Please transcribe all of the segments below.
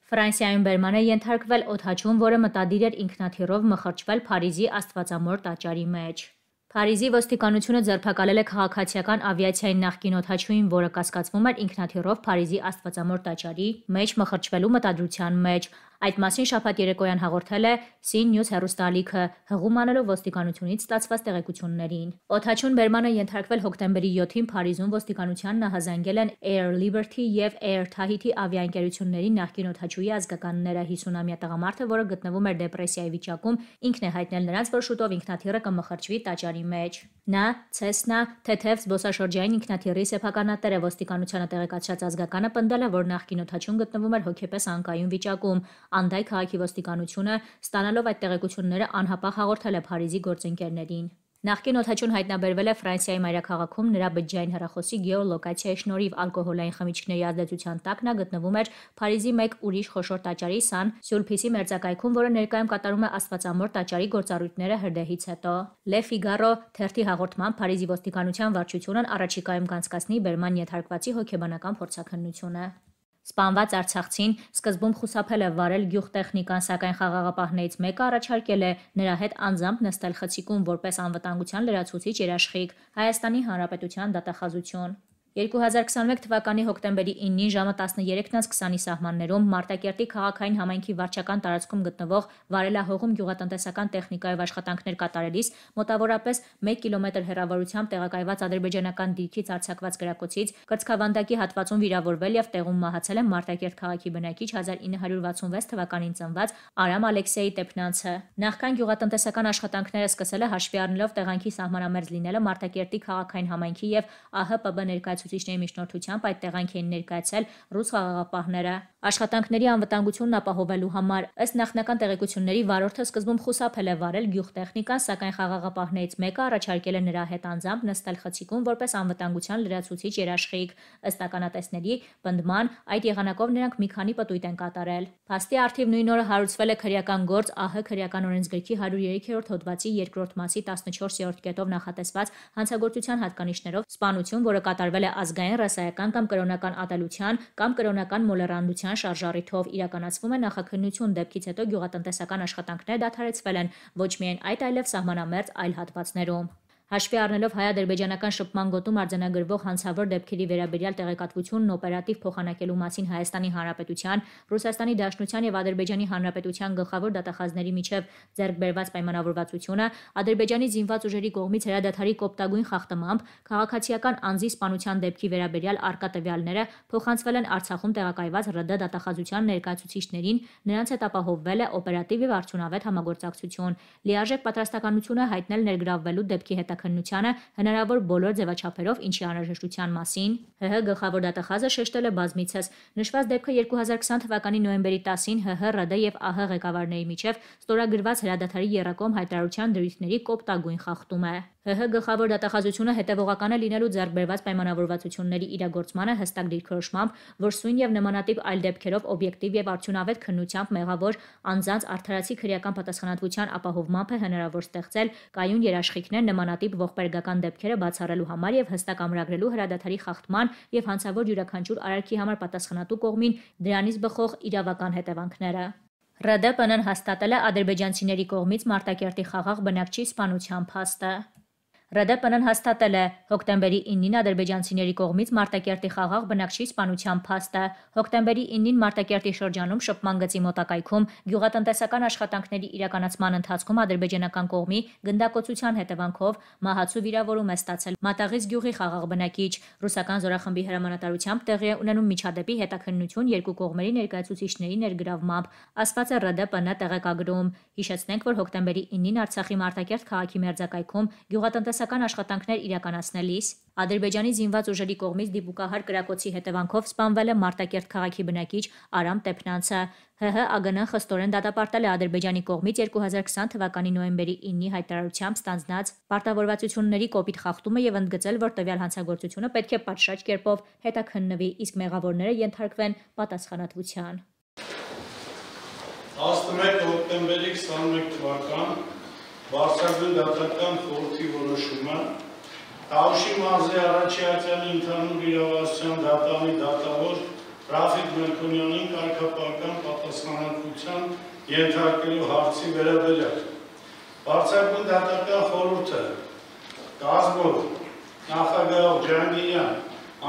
Ֆրանսիայում բերման է ենթարկվել օդաչուն, որը մտադիր էր ինքնաթիռով մխրճվել Փարիզի Աստվածամոր տաճարի մեջ։ Փարիզի ոստիկանությունը ձերբակալել է քաղաքացիական ավիացիայի նախկին օդաչուին, որը կասկածվում էր ինքնաթիռով Փարիզի Աստվածամոր տաճարի մեջ մխրճվելու մտադրության մեջ։ Այդ մասին շաբաթ երեկոյան հաղորդել է CNews հեռուստաալիքը, հղում անելով ոստիկանությունից ստացված տեղեկություններին։ Օդաչուն բերմանը ենթարկվել հոկտեմբերի 7-ին Փարիզում ոստիկանությանն նահանձել են Air Liberty և Air Tahiti ավիաընկերությունների նախկին օդաչուի ազգականները։ 50-ամյա տղամարդը, որը գտնվում էր դեպրեսիայի վիճակում, ինքն է հայտնել նրանց, որ շուտով ինքնաթիռը կմխրճվի տաճարի մեջ։ Նա Cessna թեթև զբոսաշրջային ինքնաթիռի սեփականատեր է։ Ոստիկանությանը տեղեկացրած ազգականը պնդել է, որ նախկին օդաչուն գտնվում էր հոգեպես անկայուն վիճակում։ Անդայ քաղաքի ոստիկանությունը, ստանալով այդ տեղեկությունները, անհապաղ հաղորդել է Փարիզի գործընկերներին։ Նախկին օդաչուն հայտնաբերվել է Ֆրանսիայի մայրաքաղաքում նրա բջջային հեռախոսի գեոլոկացիայի շնորհիվ։ Ալկոհոլային խմիչքների ազդեցության տակ նա գտնվում էր Փարիզի մեկ ուրիշ խոշոր տաճարի Սան Սյուլփիսի մերձակայքում, որը ներկայում կատարում է Աստվածամոր տաճարի գործառույթները հրդեհից հետո։ Le Figaro թերթի հաղորդմամբ Փարիզի ոստիկանության վարչությունն առաջիկայում կանցկացնի բերման ենթարկվածի հոգեբանական փորձաքննությունը։ Սպանված արցախցին սկզբում խուսափել է վարել գյուղտեխնիկան, սակայն խաղաղապահներից մեկը առաջարկել է նրա հետ անձամբ նստել խցիկում որպես անվտանգության լրացուցիչ երաշխիք։ Հայաստանի Հանրապետության դատախազություն։ 2021 թվականի հոկտեմբերի 9-ին ժամը 13:20-ի սահմաններում Մարտակերտի քաղաքային համայնքի վարչական տարածքում գտնվող վարելահողում գյուղատնտեսական տեխնիկայով աշխատանքներ կատարելիս մոտավորապես 1 կիլոմետր հեռավորությամբ տեղակայված ադրբեջանական դիրքից արձակված գրակոցից կրծքավանդակի հատվածում վիրավորվել և տեղում մահացել է Մարտակերտ քաղաքի բնակիչ 1966 թվականին ծնված Արամ Ալեքսեյ Տեփնանցը։ Նախքան գյուղատնտեսական աշխատանքները սկսել է հաշվի առնելով տեղանքի սահմանամերձ լինելը Մարտակերտի քաղաքային համայնքի և ԱՀՊԲ ներկայացուցիչների միջնորդությամբ այդ տեղանք էին ներկայացել ռուս խաղաղապահները։ Աշխատանքների անվտանգությունն ապահովելու համար, ըստ նախնական տեղեկությունների, վարորդը սկզբում խուսափել է վարել գյուղտեխնիկան, սակայն խաղաղապահներից մեկը առաջարկել է նրա հետ անձամբ նստել խցիկում որպես անվտանգության լրացուցիչ երաշխիք։ Ըստ ականատեսների պնդման, այդ եղանակով նրանք մի քանի պտույտ են կատարել։ Փաստի առթիվ նույն օրը հարուցվել է քրեական գործ ԱՀ քրեական օրենսգրքի 103-րդ հոդվածի 2-րդ մասի 14-րդ կետով նախատեսված հանցագործության հատկանիշներով սպանություն, որը կատարվել է ազգային, ռասայական կամ կրոնական ատելության կամ կրոնական մոլեռանդության շարժառիթով։ Իրականացվում է նախաքննություն, դեպքից հետո գյուղատնտեսական աշխատանքները դադարեցվել են ոչ միայն այդ, այլև սահմանամերձ այլ հատվածներում։ Հաշվի առնելով հայ-ադրբեջանական շփման գոտում արձանագրվող հանցավոր դեպքերի վերաբերյալ տեղեկատվությունն օպերատիվ փոխանակելու մասին Հայաստանի Հանրապետության, Ռուսաստանի Դաշնության և Ադրբեջանի Հանրապետության գլխավոր դատախազների միջև ձեռք բերված պայմանավորվածությունը, Ադրբեջանի զինված ուժերի կողմից հրադադարի կոպտագույն խախտմամբ քաղաքացիական անձի սպանության դեպքի վերաբերյալ առկա տվյալները փոխանցվել են Արցախում տեղակայված ՌԴ դատախազության ներկայացուցիչներին, նրանց հետ ապահովվել է օպերատիվ և արդյունավետ համագործակցություն։ Լիարժեք պատրաստականություն է հայտնել ներգրավվելու դեպքի հետաքննությանը հնարավոր բոլոր ձևաչափերով, ինչի անհրաժեշտության մասին ՀՀ գլխավոր դատախազը շեշտել է բազմիցս։ Նշված դեպքը 2020 թվականի նոյեմբերի 10-ին ՀՀ, ՌԴ և ԱՀ ղեկավարների միջև ստորագրված հրադադարի եռակողմ հայտարարության դրույթների կոպտագույն խախտում է։ ՀՀ գլխավոր դատախազությունը հետևողական է լինելու ձեռք բերված պայմանավորվածությունների իրագործմանը հստակ դիրքորոշմամբ, որ սույն և նմանատիպ այլ դեպքերով օբյեկտիվ և արդյունավետ քննությամբ մեղավոր անձանց արդարացի քրեական պատասխանատվության ապահովմամբ է հնարավոր ստեղծել կայուն երաշխիքներ նմանատիպ ողբերգական դեպքերը բացառելու համար և հստակ ամրագրելու հրադադարի խախտման և հանցավոր յուրաքանչյուր արարքի համար պատասխանատու կողմին դրանից բխող իրավական հետևանքները։ ՌԴՊ-ն հաստատել է ադրբեջանցիների կողմից Մարտակերտի խաղաղ բնակչի սպանության փաստը։ ՌԴՊ-ն հաստատել է հոկտեմբերի 9-ին ադրբեջանցիների կողմից Մարտակերտի խաղաղ բնակչի սպանության փաստը։ Հոկտեմբերի 9-ին Մարտակերտի շրջանում շփման գծի մոտակայքում գյուղատնտեսական աշխատանքների իրականացման ընթացքում ադրբեջանական կողմի գնդակոծության հետևանքով մահացու վիրավորում է ստացել Մատաղից գյուղի խաղաղ բնակիչ։ Ռուսական զորախմբի հրամանատարությամբ տեղի է ունենում միջադեպի հետաքննություն երկու կողմերի ներկայացուցիչների ներգրավմամբ, ասված է ՌԴՊ-ն տեղեկագրում։ Հիշեցնենք, որ հոկտեմբերի 9-ին Արցախի Մարտակերտ քաղաքի մերձակայքում գյուղատնտեսական աշխատանքներ իրականացնելիս Ադրբեջանի զինված ուժերի կողմից դիպուկահար կրակոցի հետևանքով սպանվել է Մարտակերտ քաղաքի բնակիչ Արամ Տեփնանցը։ ՀՀ-ԱԳՆ-ն խստորեն դատապարտել է Ադրբեջանի կողմից 2020 թվականի նոյեմբերի 9-ի հայտարարությամբ ստանձնած պարտավորվածությունների կոպիտ խախտումը և ընդգծել, որ տվյալ հանցագործությունը պետք է պատշաճ կերպով հետաքննվի, իսկ մեղավորները ենթարկվեն պատասխանատվության։ 11 հոկտեմբերի 21 թվական Վարչական դատական խորհրդի որոշումը Տավուշի մարզի Արաչյացյանի ընդհանուր իրավասության դատարանի դատավոր Ռաֆիկ Մելքոնյանին կարգապահական պատասխանատվության ենթարկելու հարցի վերաբերյալ Բարձրագույն դատական խորհուրդը կազմով նախագահ Ջանգիրյան,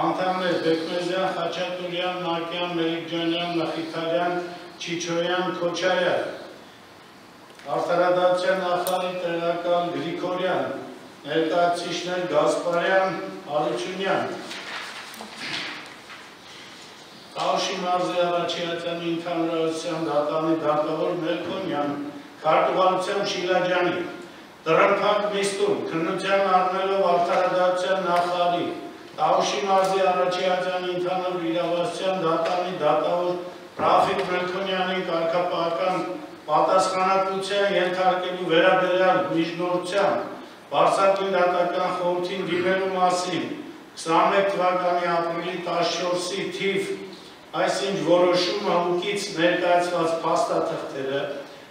անդամներ Բեկմեզյան, Խաչատուրյան, Մակյան, Մելիքջանյան, Նախիթարյան, Չիչոյան, Քոչարյան, Արդարադատության նախարարի տեղակալ Գրիգորյան, ներկայացուցիչներ Գասպարյան, Արությունյան, Տաուշի մարզի Արաչյանի ընդհանրության դատանի դատավոր Մելքոնյան, քարտուղարությամբ Շիլաջյանի, Տրմփակ Միստուն, քննության առնելով արդարադատության նախարարի, Տաուշի մարզի Արաչյանի ընդհանուր իրավասության դատանի դատավոր Ռաֆիկ Մելքոնյանին կարգապահական պատասխանատվության ենթարկելու վերաբերյալ միջնորդության Բարձրագույն դատական խորհրդին դիմելու մասին 21 թվականի ապրիլի 14-ի թիվ այսինչ որոշումը ուկից ներկայացված փաստաթղթերը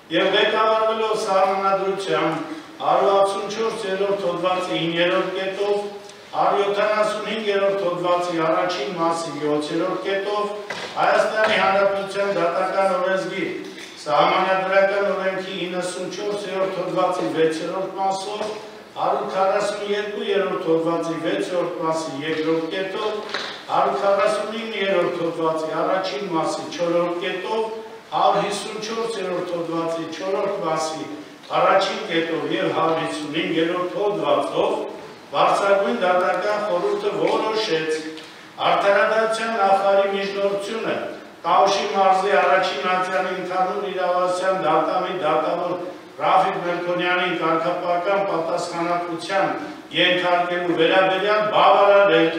և ղեկավարվելով սահմանադրությամբ 164-րդ հոդվածի 9-րդ կետով, 175-րդ հոդվածի առաջին մասի 7-րդ կետով, Հայաստանի Հանրապետության դատական օրենսգիր, սահմանադրական օրենքի 94-րդ հոդվածի 6-րդ մասով, 142-րդ հոդվածի 6-րդ մասի 2-րդ կետով, 149-րդ հոդվածի առաջին մասի 4-րդ կետով, 154-րդ հոդվածի 4-րդ մասի առաջին կետով և 155-րդ հոդվածով Բարձրագույն դատական խորհուրդը որոշեց արդարադատության նախարարի միջնորդությունը Տաուշի մարզի Արաչինացյանի ընդհանուր իրավասության դատանի դատավոր Ռաֆիկ Մելքոնյանին կարգապահական պատասխանատվության ենթարկելու վերաբերյալ բավարարել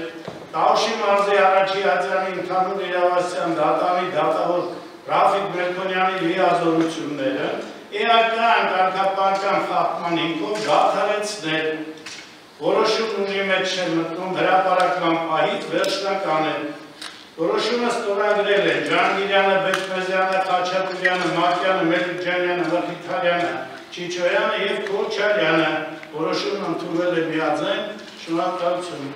Տաուշի մարզի Արաչինացյանի ընդհանուր իրավասության դատանի դատավոր Ռաֆիկ Մելքոնյանի լիազորությունները էական կարգապահական խախտման հիմքով դադարեցնել որոշումն ունի մեջ չեն մտնում հրապարակման պահից վերջնական է որոշումը ստորագրել են Ջանգիրյանը, Բեկմեզյանը, Խաչատուրյանը, Մակյանը, Մելիքջանյանը, Նախիթարյանը, Չիչոյանը և Քոչարյանը որոշումն ընդունվել է միաձայն շնորհակալություն